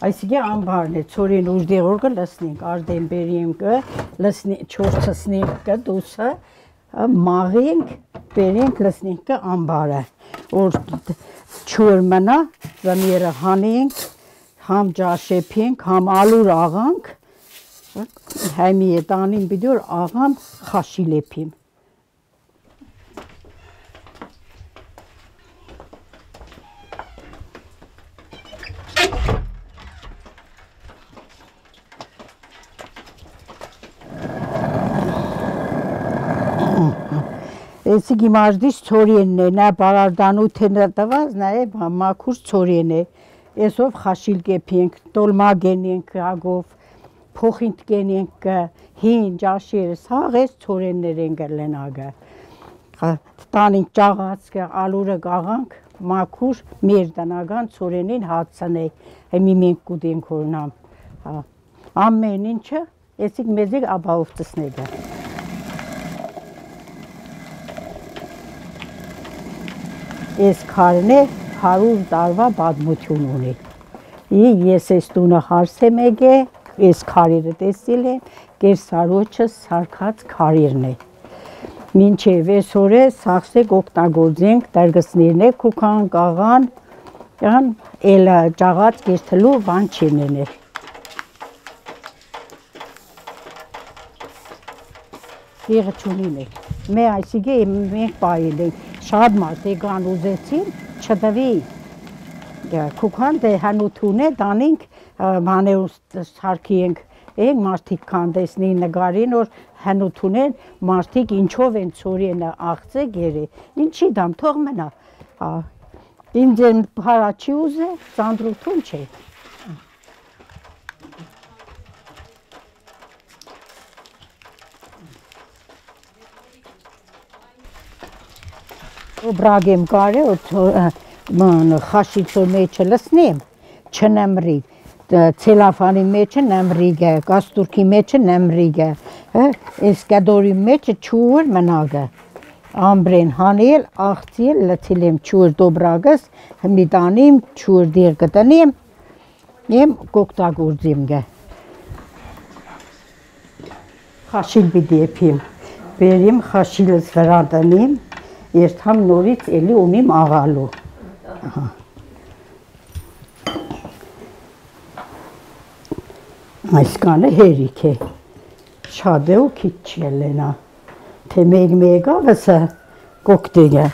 Այսինքն ամբարն է, ծորին ուժդեղորը լսնենք, արդեն բերենք, լսնենք, չորցնենք դուսը, մաղենք, բերենք, լսնենք ամբարը, որ չուր մնա, զամիերը հանենք, համ ջաշեփենք, համ ալուր աղանք, հայմի է տանին բիդոր աղամ խաշի լեփիմ։ Էսի գիմաժդից ծորիենն է, նա բարարդանութեն տված, նաև մաքուր ծորիեն է, էսով խաշիլ կեփենք, տոլմա գենենք ագով, փոխինտ գենենք, հին ջաշերը, սաղ էս ծորիեններ են գլեն ագը, տանինք ճաղացքը, ալուրը գաղանք, մաքուր մեր տնական ծորիենին հացանեք, հեմի մենք կուտենք որնամ, ամեն ինչը, էսիկ մեզիկ աբահով տսնեգը։ Ես քարն է 100 տարվա պատմություն ունի։ Ես այս տունը հարսեմ եկե, այս քարերը տեսել եմ, կերսարոջը սարքած քարերն է։ Մինչև այսօր է սաղսեք օգտագործենք, դարգսներն է կուքան, կաղան, էլը ճաղած կերթլու բան չենեն է։ Եղը չունին է։ Մե այսիգե մենք պայել ենք, շատ մարդ եկան ուզեցին, չտվի, կուքան դե հանութուն է, դանինք մանեուս սարքի ենք, մարդիկ կանդեսնի նգարին, որ հանութուն են, մարդիկ ինչով են ծորիենը աղծե գերը, ինչի դամ, թող մնա, ինձ են հարաչի ուզե, ծանդրութուն չէ։ Բրագեմ կարե, խաշիցո մեջը լսնեմ, չնեմրի, ցելաֆանի մեջը նեմրիգ է, կաստուրքի մեջը նեմրիգ է, այս կադորի մեջը չուր մնագը, ամբրեն հանել, աղցիել, լցել եմ չուր դոբրագս, հմիտանիմ, չուր դիր կտնիմ, եմ կոկտագործիմ գը։ Խաշիլ բիդի եփիմ, բերիմ խաշիլս վրա տնիմ, երթամ նորից էլի ունիմ աղալու։ Այս կանը հերիք է, շատ է ու քիչ չի ելենա, թե մեկ աղսը կոկտեգը։